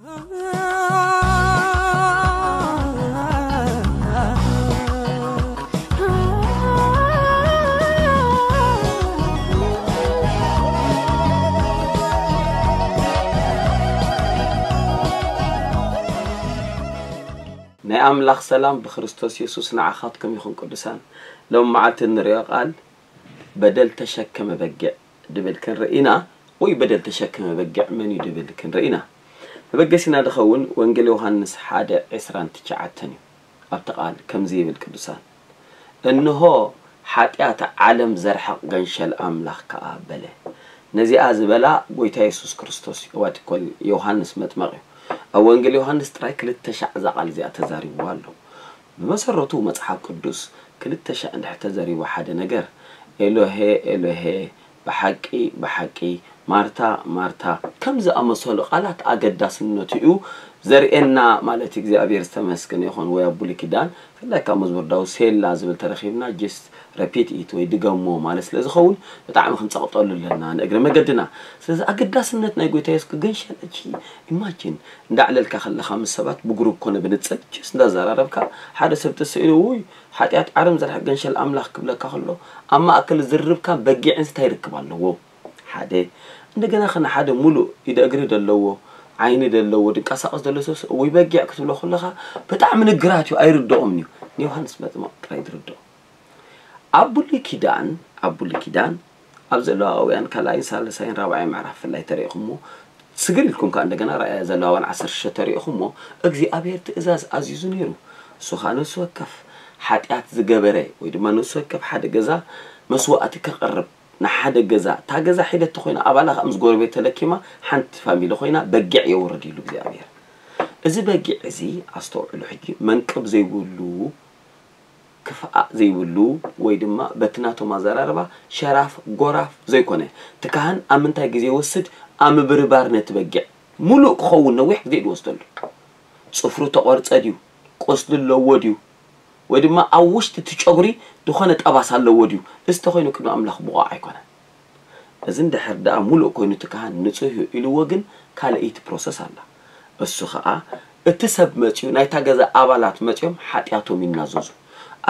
ናይ ኣምላኽ ሰላም ብክርስቶስ የሱስ ንዓኻትኩም ይኹን ቅዱሳን። ሎም መዓልቲ እንርእዮ ቃል በደል ተሸከመ በጊዕ ድብል ክንርኢ ኢና፣ ወይ በደል ተሸከመ በጊዕ መን እዩ ድብል ክንርኢ ኢና። መበገሲና ድኸውን ወንጌል ዮሃንስ ሓደ ዕስራን ትሽዓተን እዩ። ኣብቲ ቃል ከምዚ ይብል ቅዱሳን፣ እንሆ ሓጢኣት ዓለም ዘርሕቕ ገንሸል ኣምላኽ ከኣ በለ። ነዚኣ ዝበላ ጎይታ የሱስ ክርስቶስ እዩ። ዋትኮል ዮሃንስ መጥመቕ እዩ። ኣብ ወንጌል ዮሃንስ ጥራይ ክልተ ሻዕ እዛ ቃል እዚኣ ተዛሪብዋ ኣሎ። ብመሰረቱ መጽሓፍ ቅዱስ ክልተ ሻዕ እንድሕር ተዘሪቡ ሓደ ነገር፣ ኤሎሄ ኤሎሄ፣ ብሓቂ ብሓቂ፣ ማርታ ማርታ፣ ከም ዝኣመሰሉ ቃላት ኣገዳስነቱ እዩ ዘርእየና ማለት እዩ። እግዚኣብሔር ዝተመስገነ ይኹን። ወይ ኣብ ብሉይ ኪዳን ብፍላይ ካብ መዝሙር ዳዊት ሴላ ዝብል ተረኺብና just repeat it ወይ ድገሞ ማለት ስለ ዝኸውን ብጣዕሚ ክንጸቕጠሉ ኣለና ንእግረ መገድና። ስለዚ ኣገዳስነት ናይ ጎይታ የሱስ ክገንሸል እቺ ኢማጂን እንዳዕለልካ ከለኻ ምስ ሰባት ብግሩፕ ኮነ ብንጽል just እንዳዘራረብካ ሓደ ሰብ ተስኢሉ ውይ ሓጢኣት ዓለም ዘርሕቕ ገንሸል ኣምላኽ ክብለካ ከሎ ኣብ ማእከል ዝርርብካ በጊዕን እንታይ ርክብ ኣለዎ? ሓደ እንደገና ከነ ሓደ ሙሉእ ኢደ እግሪ ደለዎ ዓይኒ ደለዎ ድንቀሳቐስ ደሎ ሰብ ወይ በጊዕ ክትብሎ ከለኻ ብጣዕሚ ንግራት እዩ ኣይርድኦም እዩ። ንዮሃንስ መጥምቕ ጥራይ ዝርድኦ። ኣብ ብሉይ ኪዳን ኣብ ብሉይ ኪዳን ኣብ ዘለዋውያን ካልኣይን ሳልሳይን ራብዓይ ምዕራፍ ፍላይ ተሪእኹሞ ስግር ኢልኩም ከዓ እንደገና ራእያ ዘለዋውያን ዓሰርተ ሽዱሽተ ተሪእኹሞ እግዚኣብሔር ትእዛዝ ኣዚዙ ነይሩ። እሱ ከዓ ነፍሲ ወከፍ ሓጢኣት ዝገበረ ወይ ድማ ነፍሲ ወከፍ ሓደ ገዛ መስዋእቲ ከቕርብ ንሓደ ገዛ እታ ገዛ ሒደቲ ኮይና ኣባላ ከዓ ምስ ጎረቤት ተለኪማ ሓንቲ ፋሚሊ ኮይና በጊዕ የውርድ ኢሉ እግዚኣብሔር። እዚ በጊዕ እዚ ኣስተውዕሉ ሕጂ መንቅብ ዘይብሉ ክፍኣእ ዘይብሉ ወይ ድማ በቲ ናቶም ኣዘራርባ ሸራፍ ጎራፍ ዘይኮነ እቲ ካህን ኣብ ምንታይ ግዜ ይወስድ ኣብ ምብርባር ነቲ በጊዕ ሙሉእ ክኸውን ነዊሕ ግዜ ድወስደሉ ጽፍሩ ተቖርጸ ድዩ ቁስሊ ኣለዎ ድዩ ወይ ድማ ኣብ ውሽጢ እቲ ጨጉሪ ዝኾነ ጠባሳ ኣለዎ ድዩ እዚ ተኾይኑ ቅድሚ ኣምላኽ ብቑዕ ኣይኮነን። እዚ እንድሕር ደኣ ሙሉእ ኮይኑ እቲ ካህን ንጹህ እዩ ኢልዎ ግን ካልኣይቲ ፕሮሰስ ኣላ። እሱ ኸኣ እቲ ሰብ መጺኡ ናይታ ገዛ ኣባላት መጺኦም ሓጢኣቶም ይናዘዙ።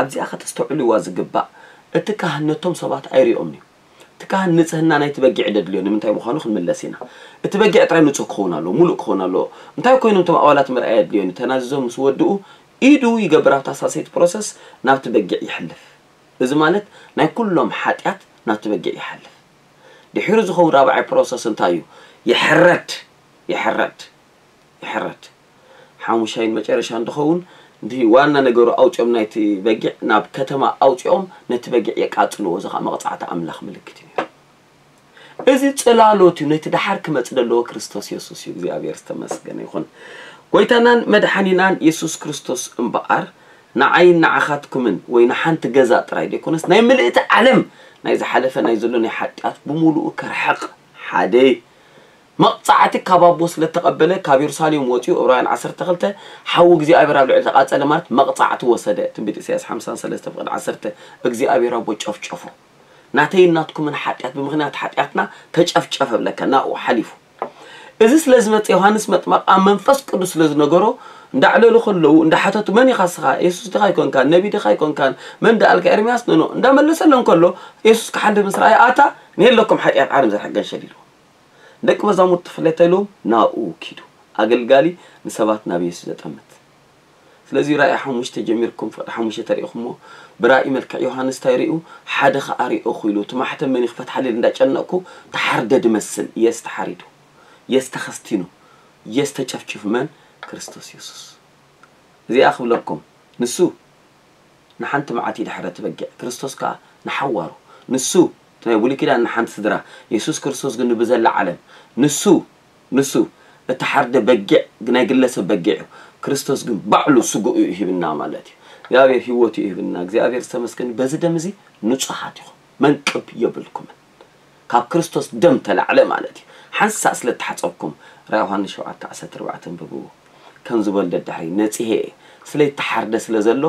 ኣብዚኣ ከተስተውዕልዋ ዝግባእ እቲ ካህን ነቶም ሰባት ኣይሪኦምን እዩ። እቲ ካህን ንጽህና ናይቲ በጊዕ ደድልዮ ንምንታይ ምዃኑ ክንምለስ ኢና። እቲ በጊዕ ጥራይ ንጹህ ክኸውን ኣለዎ፣ ሙሉእ ክኸውን ኣለዎ። እንታይ ኮይኖም እቶም ኣባላት ምርኣይ ኣድልዮን እዩ። ተናዚዞም ምስ ወድኡ ኢዱ ይገብር ኣብታ ሳልሰይቲ ፕሮሰስ ናብቲ በጊዕ ይሕልፍ። እዚ ማለት ናይ ኩሎም ሓጢኣት ናብቲ በጊዕ ይሓልፍ። ድሒሩ ዝኸውን ራብዓይ ፕሮሰስ እንታይ እዩ? ይሕረድ ይሕረድ ይሕረድ። ሓሙሻይን መጨረሻን ድኸውን እቲ ዋና ነገሩ ኣውፂኦም ናይቲ በጊዕ ናብ ከተማ ኣውፂኦም ነቲ በጊዕ የቃፅልዎ። እዚ ከዓ መቕፃዕቲ ኣምላኽ ምልክት እዩ ነይሩ። እዚ ጽላሎት እዩ ነቲ ደሓር ክመጽእ ዘለዎ ክርስቶስ የሱስ እዩ እግዚኣብሔር ዝተመስገነ ይኹን። ጎይታናን መድሓኒናን የሱስ ክርስቶስ እምበኣር ንዓይን ንዓኻትኩምን ወይ ንሓንቲ ገዛ ጥራይ ዘይኮነስ ናይ ምልእቲ ዓለም ናይ ዝሓለፈ ናይ ዘሎ ናይ ሓጢኣት ብምሉኡ ከርሕቕ ሓደ መቕጻዕቲ ካብ ኣቦ ስለ እተቐበለ ካብ የሩሳሌም ወጺኡ ዕብራውያን ዓሰርተ ክልተ ሓዊ እግዚኣብሔር ኣብ ልዕሊ ተቓጸለ ማለት መቕጻዕቲ ወሰደ ትንቢት ኢሳያስ ሓምሳን ሰለስተ ፍቕዲ ዓሰርተ እግዚኣብሔር ኣቦ ጨፍጨፎ ናተይን ናትኩምን ሓጢኣት ብምኽንያት ሓጢኣትና ተጨፍጨፈ ብለካ ናብኡ ሓሊፉ እዚ ስለ ዝመፀ ዮሃንስ መጥመቕ ኣብ መንፈስ ቅዱስ ስለ ዝነገሮ እንዳዕለሉ ከለዉ እንዳሓተቱ መን ኢኻ ስኻ የሱስ ድኻ ኣይኮንካን ነቢ ድኻ ኣይኮንካን መን ደኣልካ ኤርምያስ ነኖ እንዳመለሰሎም ከሎ የሱስ ክሓልፍ ምስ ረኣየ ኣታ ንየለኩም ሓጢኣት ዓለም ዘርሕቅ ገንሸል ኢልዎ ደቂ መዛሙርቲ ፍለተ ኢልዎም ናብኡ ኪዱ ኣገልጋሊ ንሰባት ናብ የሱስ ዘጠምት ስለዚ ራእይ ሓሙሽተ ጀሚርኩም ፍቕዲ ሓሙሽተ ተሪእኹሞ ብራእይ መልክዕ ዮሃንስ እንታይ ሪኡ ሓደ ኸዓ ሪኦ ኹኢሉ እቲ ማሕተም መን ይኽፈት ሓሊል እንዳጨነቅኩ ተሓርደ ድመስል የስ ተሓሪዱ የስ ተኸስቲኑ የስ ተጨፍጭፉ መን ክርስቶስ የሱስ እዚኣ ክብለኩም ንሱ ንሓንቲ መዓት ይድሕረ እቲ በጊዕ ክርስቶስ ከኣ ንሓዋሩ ንሱ እቲ ናይ ብሉይ ኪዳን ንሓንቲ ስድራ የሱስ ክርስቶስ ግን ብዘላ ዓለም ንሱ ንሱ እቲ ሓርደ በጊዕ ናይ ግለሰብ በጊዕ እዩ ክርስቶስ ግን ባዕሉ ስግኡ እዩ ሂብና ማለት እዩ እግዚኣብሔር ህይወቱ እዩ ሂብና እግዚኣብሔር ዝተመስገን በዚ ደም እዚ ንጹሃት ኢኹም መንቅብ የብልኩምን ካብ ክርስቶስ ደም ተላዕለ ማለት እዩ ሓንሳእ ስለ ተሓጸብኩም ራ ዮሃንስ ሸውዓተ ዓሰርተ ኣርባዕተ ኣንብብዎ ከም ዝበል ደድሕሪ ነጺሄ እየ ስለይተሓርደ ስለ ዘሎ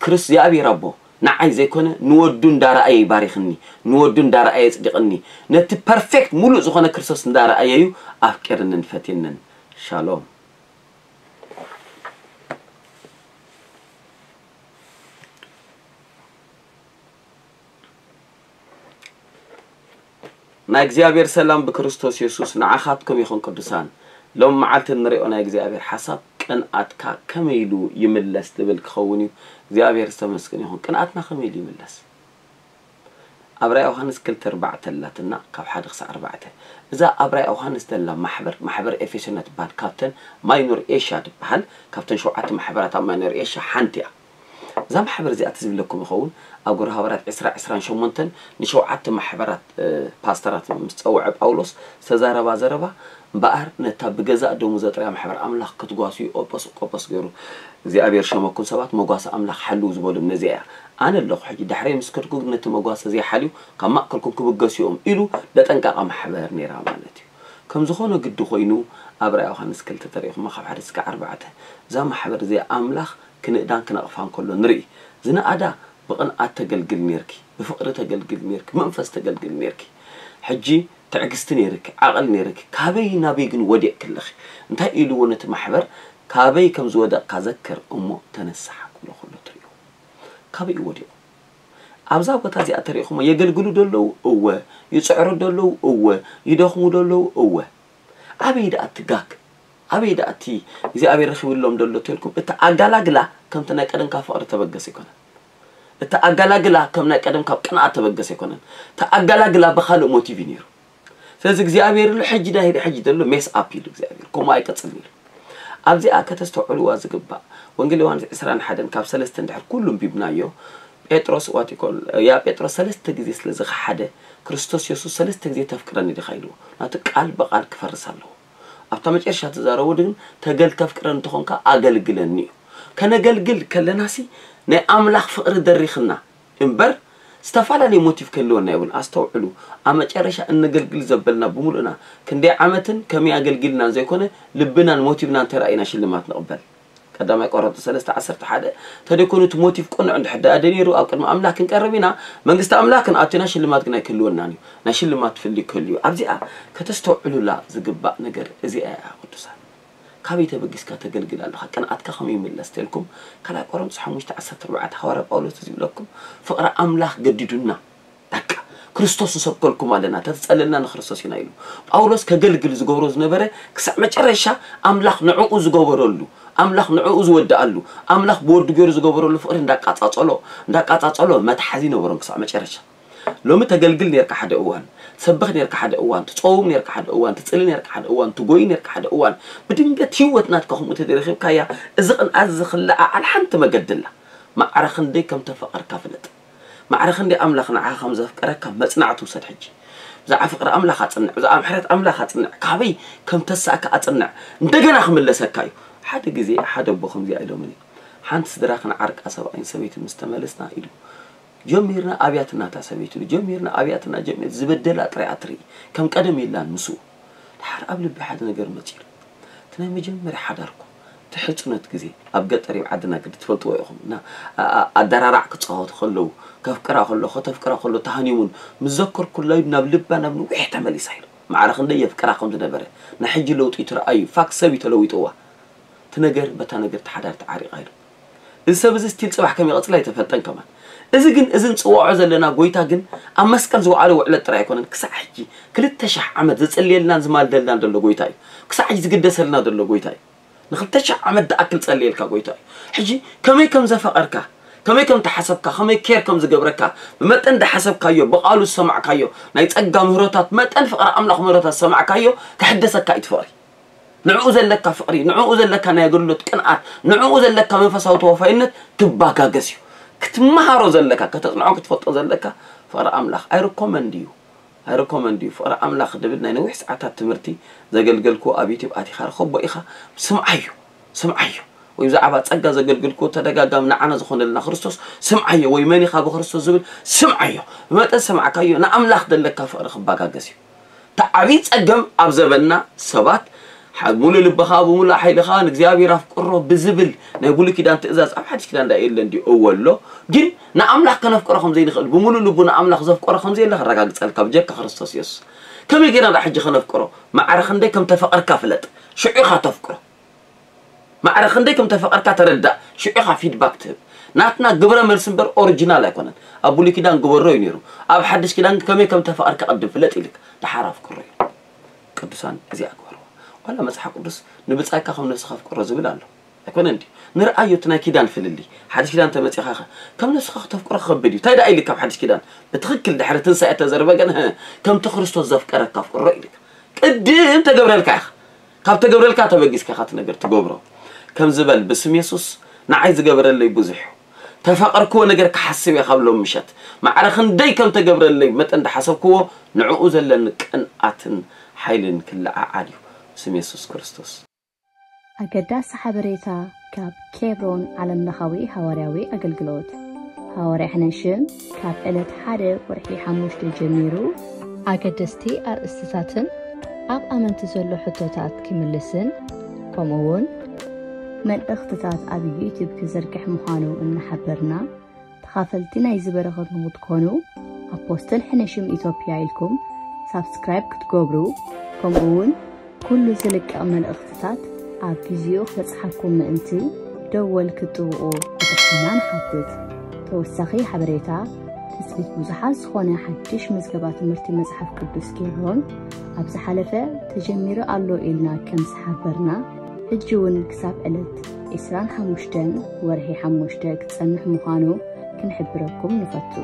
ክርስ እግዚኣብሔር ኣቦ ንዓይ ዘይኮነ ንወዱ እንዳረኣየ ይባሪኽኒ ንወዱ እንዳረኣየ የጽድቕኒ ነቲ ፐርፌክት ሙሉእ ዝኾነ ክርስቶስ እንዳረኣየ እዩ ኣፍቂርንን ፈትየንን ሻሎም ናይ እግዚኣብሔር ሰላም ብክርስቶስ የሱስ ንዓኻትኩም ይኹን ቅዱሳን። ሎም መዓልቲ እንሪኦ ናይ እግዚኣብሔር ሓሳብ ቅንኣትካ ከመይ ኢሉ ይምለስ ዝብል ክኸውን እዩ። እግዚኣብሔር ዝተመስገን ይኹን። ቅንኣትና ከመይ ኢሉ ይምለስ? ኣብ ራእይ ዮሃንስ ክልተ ኣርባዕተ ኣላትና ካብ ሓደ ክሳዕ ኣርባዕተ። እዛ ኣብ ራእይ ዮሃንስ ዘላ ማሕበር ማሕበር ኤፌሶን ትበሃል። ካብተን ማይኖር ኤሽያ ትበሃል። ካብተን ሸውዓተ ማሕበራት ኣብ ማይኖር ኤሽያ ሓንቲ እያ። እዛ ማሕበር እዚኣ ትዝብለኩም ይኸውን። ኣብ ግብረ ሃዋርያት ዕስራ ዕስራን ሸሞንተን ንሸውዓተ ማሕበራት ፓስተራት ምስ ጸውዐ ጳውሎስ ዝተዛረባ ዘረባ እምበኣር ነታ ብገዛእ ደሙ ዘጥርያ ማሕበር ኣምላኽ ክትጓስዩ ኦፖስ ቆጶስ ገይሩ እግዚኣብሔር ሸመኩም ሰባት መጓሲ ኣምላኽ ሓልው ዝበሉም ነዚኣ እያ። ኣነ ኣለኹ ሕጂ ዳሕረይ ምስ ከድኩ ግን ነቲ መጓሲ ዘይሓልዩ ካብ ማእከልኩም ክብገሱ እዮም ኢሉ ዘጠንቀቐ ማሕበር ነይራ ማለት እዩ። ከም ዝኾነ ግዲ ኮይኑ ኣብ ራእይ ዮሃንስ ክልተ ተሪእኹማ ካብ ሓደ እስከ ኣርባዕተ እዛ ማሕበር እዚኣ ኣምላኽ ክንእዳን ክነቕፋን ከሎ ንርኢ። ዝነኣዳ ብቕንኣት ተገልግል ነርኪ፣ ብፍቕሪ ተገልግል ነርኪ፣ መንፈስ ተገልግል ነርኪ። ሕጂ ትዕግስቲ ነርኪ፣ ዓቕል ነርኪ፣ ካበይ ናበይ ግን ወዲቕኪ ኣለኺ? እንታይ ኢልዎ ነቲ ማሕበር? ካበይ ከም ዝወደቕካ ዘክር እሞ ተነሳሕ ክብሎ ከሎ ትርእዩ። ካበይ እዩ ወዲቑ? ኣብዛ ቦታ እዚኣ ተሪእኹሞ የገልግሉ ደለዉ እወ፣ ይፅዕሩ ደለዉ እወ፣ ይደኽሙ ደለዉ እወ። ኣበይ ደኣ እቲ ጋግ? ኣበይ ደኣ እቲ እግዚኣብሔር ረኺብሎም ደሎ ተልኩም? እቲ ኣጋላግላ ከምቲ ናይ ቀደም ካብ ፍቕሪ ተበገሰ ኣይኮነን። እቲ ኣጋላግላ ከም ናይ ቀደም ካብ ቅንኣት ተበገሰ ኣይኮነን። እቲ ኣጋላግላ ብኻልእ ሞቲቭ እዩ ነይሩ። ስለዚ እግዚኣብሔር ኢሉ ሕጂ ዳሂደ ሕጂ ደሎ ሜስ ኣፕ ኢሉ እግዚኣብሔር ከምኡ ኣይቀጽልን ኢሉ። ኣብዚኣ ከተስተውዕልዋ ዝግባእ ወንጌል ዮሃንስ ዕስራን ሓደን ካብ ሰለስተ እንድሕር ኩሉ እንቢብናዮ ጴጥሮስ ዋቲኮል ያ ጴጥሮስ ሰለስተ ግዜ ስለ ዝኸሓደ ክርስቶስ የሱስ ሰለስተ ግዜ ተፍቅረኒ ዲኻ ኢልዎ ናቱ ቃል ብቓል ክፈርስ ኣለዎ። ኣብታ መጨረሻ ተዛረቡ ግን ተገል ተፍቅረኒ እንተኾንካ ኣገልግለኒ እዩ። ከነገልግል ከለናሲ ናይ ኣምላኽ ፍቕሪ ደሪኽና እምበር ዝተፈላለየ ሞቲቭ ከልወና ይብሉን ኣስተውዕሉ። ኣብ መጨረሻ እነገልግል ዘበልና ብምሉእና ክንደይ ዓመትን ከመይ ኣገልጊልናን ዘይኮነ ልብናን ሞቲቭናን ተራእዩና ሽልማት ንቕበል። ቀዳማይ ቆሮንቶስ ሰለስተ ዓሰርተ ሓደ ተደይኮኑ እቲ ሞቲቭ ቅኑዕ እንድሕር ደኣ ደነይሩ ኣብ ቅድሚ ኣምላኽ ክንቀርብ ኢና መንግስቲ ኣምላኽ ክንኣቱ ኢና ሽልማት ግን ኣይክህልወናን እዩ። ናይ ሽልማት ፍልይ ክህሉ እዩ። ኣብዚኣ ከተስተውዕሉላ ዝግባእ ነገር እዚኣ እያ ቅዱሳን። ካበይ ተበጊስካ ተገልግል ኣለኻ? ቅንኣትካ ከመይ ይምለስ ተልኩም ካልኣይ ቆሮንቶስ ሓሙሽተ ዓሰርተ ኣርባዕተ ሃዋርያ ጳውሎስ እዚ ይብለኩም ፍቕሪ ኣምላኽ ገዲዱና በቃ ክርስቶስ ንሰብከልኩም ኣለና ተተጸለልና ንክርስቶስ ኢና ኢሉ። ጳውሎስ ከገልግል ዝገብሮ ዝነበረ ክሳዕ መጨረሻ ኣምላኽ ንዕኡ ዝገበረሉ ኣምላኽ ንዕኡ ዝወድኣሉ ኣምላኽ ብወዱ ገይሩ ዝገበረሉ ፍቕሪ እንዳቃጻጸሎ እንዳቃጻጸሎ መትሓዚ ነበሮም ክሳዕ መጨረሻ። ሎሚ ተገልግል ነርካ ሓደ እዋን ትሰብኽ ነርካ ሓደ እዋን ትጸውም ነርካ ሓደ እዋን ትጽሊ ነርካ ሓደ እዋን ትጎይ ነርካ ሓደ እዋን ብድንገት ህይወት ናትካ ከምኡ ተደረኺብካያ። እዚ ቅንኣት እዚ ክለዓዓል ሓንቲ መገዲ ኣላ። ማዕረ ክንደይ ከም ተፈቐርካ ፍለጥ። ማዕረ ክንደይ ኣምላኽ ንዓኻ ከም ዘፍቀረካ መጽናዕቲ ውሰድ። ሕጂ ብዛዕባ ፍቕሪ ኣምላኽ ኣጽንዕ፣ ብዛዕባ ምሕረት ኣምላኽ ኣጽንዕ፣ ካበይ ከም ተሳእካ ኣጽንዕ። እንደገና ክምለሰካ እዩ። ሓደ ግዜ ሓደ ኣቦ ከምዚኣ ኢሎምኒ፣ ሓንቲ ስድራ ክንዓርቃ ሰብኣይን ሰበይትን ምስ ተመለስና ኢሉ ጀሚርና ኣብያትና እታ ሰበይቲ ኢሉ ጀሚርና ኣብያትና ጀሚር ዝበደላ ጥራይ ኣትርኢ ከም ቀደም የላን ምስኡ። ድሓር ኣብ ልቢ ሓደ ነገር መጺሩ እቲ ናይ መጀመርያ ሓዳርኩ እቲ ሕጽኖት ግዜ ኣብ ገጠር እዩ ዓድና ግዲ ትፈልጥዎ ኢኹም እና ኣደራራዕ ክጻወቱ ከለዉ ከፍቅራ ከሎ ከተፍቅራ ከሎ ተሃኒሙን ምስ ዘከርኩ ላዩ ናብ ልባ ናብ ንዊሕ ተመሊሳ ኢሉ ማዕረ ክንደይ የፍቅራ ከም ዝነበረ ናይ ሕጂ ለውጢ ትረኣዩ ፋክት ሰብ እዩ ተለዊጥዋ እቲ ነገር በታ ነገር ተሓዳር ተዓሪቓ ኢሉ እዚ ሰብ እዚ ስቲል ጽባሕ ከም ይቐጽል ኣይተፈልጠን ከማን እዚ ግን እዚ ንጽውዖ ዘለና ጎይታ ግን ኣብ መስቀል ዝወዓለ ውዕለት ጥራይ ኣይኮነን ክሳዕ ሕጂ ክልተ ሻሕ ዓመት ዝጽልየልናን ዝማልደልናን ዘሎ ጎይታ እዩ ክሳዕ ሕጂ ዝግደሰልና ዘሎ ጎይታ እዩ ንክልተ ሻሕ ዓመት ዝኣክል ጸልየልካ ጎይታ እዩ ሕጂ ከመይ ከም ዘፈቐርካ ከመይ ከም ተሓሰብካ ከመይ ኬር ከም ዝገብረካ ብመጠን ዝሓሰብካዮ ብቓሉ ዝሰማዕካዮ ናይ ጸጋ ምህሮታት መጠን ፍቕሪ ኣምላኽ ምህሮታት ዝሰማዕካዮ ክሕደሰካ እዩ ትፍቕሪ ንዕኡ ዘለካ ፍቕሪ ንዕኡ ዘለካ ናይ ኣገልግሎት ቅንኣት ንዕኡ ዘለካ መንፈሳዊ ተወፋይነት ክባጋገስ እዩ ክትመሃሮ ዘለካ ከተጽንዖ ክትፈልጦ ዘለካ ፍቕሪ ኣምላኽ ኣይርኮመንድ እዩ ኣይርኮመንድ እዩ ፍቕሪ ኣምላኽ ድብል ናይ ነዊሕ ሰዓታት ትምህርቲ ዘገልገልክዎ ኣብ ዩቲብ ኣቲኻ ርኸቦ ኢኻ ስምዓዮ ስምዓዮ ወይ ብዛዕባ ጸጋ ዘገልገልክዎ ተደጋጋሚ ንዓና ዝኾነልና ክርስቶስ ስምዓዮ ወይ መን ኢኻ ብክርስቶስ ዝብል ስምዓዮ ብመጠን ሰማዕካዮ ንኣምላኽ ዘለካ ፍቕሪ ክባጋገስ እዩ እቲ ዓብዪ ጸገም ኣብ ዘበንና ሰባት ሙሉእ ልብኻ ብሙሉእ ሓይልኻ ንእግዚኣብሔር ኣፍቅሮ ብዝብል ናይ ብሉይ ኪዳን ትእዛዝ ኣብ ሓድሽ ኪዳን ዳ የለን ድዩ እወ ኣሎ ግን ንኣምላኽ ከነፍቅሮ ከም ዘይንኽእል ብሙሉእ ልቡ ንኣምላኽ ዘፍቀሮ ከም ዘየለ ከረጋግጸልካ ብጀካ ክርስቶስ የሱስ ከመይ ጌርና ዳ ሕጂ ከነፍቅሮ ማዕረ ክንደይ ከም ተፈቐርካ ፍለጥ ሽዑ ኢኻ ተፍቅሮ ማዕረ ክንደይ ከም ተፈቐርካ ተረዳእ ሽዑ ኢኻ ፊድባክ ትህብ ናትና ግብረ መልሲ እምበር ኦሪጂናል ኣይኮነን። ኣብ ብሉይ ኪዳን ግበሮ እዩ ነይሩ። ኣብ ሓድሽ ኪዳን ከመይ ከም ተፋቐርካ ቅድም ፍለጥ ኢልካ ደሓር ኣፍቅሮ እዩ። ቅዱሳን እዚኣ ግበርዋ። ዋላ መጽሓፍ ቅዱስ ንብጻይካ ከም ነፍስኻ ኣፍቅሮ ዝብል ኣሎ። ኣይኮነን ድዩ? ንርኣዮ እቲ ናይ ኪዳን ፍልልይ። ሓድሽ ኪዳን ተመጺኻ ኸ ከም ነፍስኻ ክተፍቅሮ ክኸብድ እዩ። እንታይ ደኣ ኢሉ ካብ ሓድሽ ኪዳን? ብትኽክል ድሕሪ ትንሳኤ ተዘርበ ግን ከምቲ ክርስቶስ ዘፍቀረካ ኣፍቅሮ ኢልካ። ቅድም ተገብረልካ ኢኻ። ካብ ተገብረልካ ተበጊስካ ኢኻ እቲ ነገር ትገብሮ። ከም ዝበል ብስም የሱስ ንዓይ ዝገበረለይ ብዙሕ እዩ። ተፋቐርክዎ ነገር ክሓስብ እየ ካብ ሎም ምሸት። ማዕረ ክንደይ ከም ተገብረለይ መጠን ዝሓሰብክዎ ንዕኡ ዘለኒ ቅንኣትን ሓይልን ክለዓዓል እዩ። ብስም የሱስ ክርስቶስ። ኣገዳሲ ሓበሬታ ካብ ኬብሮን ዓለምለኻዊ ሃዋርያዊ ኣገልግሎት። ሃዋርያ ሕነሽም ካብ ዕለት ሓደ ወርሒ ሓሙሽተ ጀሚሩ ኣገደስቲ ኣርእስትታትን ኣብ ኣመንቲ ዘሎ ሕቶታት ክምልስን ከምኡ እውን መልእኽትታት ኣብ ዩቲዩብ ክዝርግሕ ምዃኑ እናሓበርና፣ ተኻፈልቲ ናይዚ በረኸት ንክትኮኑ ኣፖስትል ሕነሽም ኢትዮጵያ ኢልኩም ሳብስክራይብ ክትገብሩ፣ ከምኡ እውን ኩሉ ዝልቀቕ መልእኽትታት ኣብ ግዜኡ ክበጽሓኩም ምእንቲ ደወል ክትጥውቑ ብትሕትና ንሓትት። ተወሳኺ ሓበሬታ፣ ትጽቢት ብዙሓት ዝኾነ ሓድሽ መዝገባ ትምህርቲ መጽሓፍ ቅዱስ ኬብሮን ኣብ ዝሓለፈ ተጀሚሩ ኣሎ ኢልና ከም ዝሓበርና፣ ሕጂ እውን ክሳብ ዕለት ዕስራን ሓሙሽተን ወርሒ ሓሙሽተ ክጸንሕ ምዃኑ ክንሕብረኩም ንፈቱ።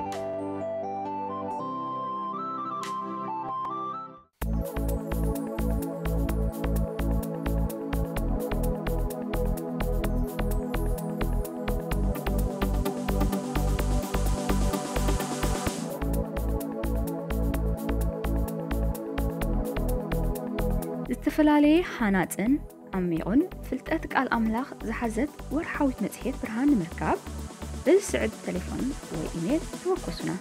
ዝተፈላለየ ሃናጽን ዓሚቑን ፍልጠት ቃል ኣምላኽ ዝሓዘት ወርሓዊት መጽሔት ብርሃን ንምርካብ፣ በዚ ስዕብ ተሌፎን ወይ ኢሜል ተወከሱና።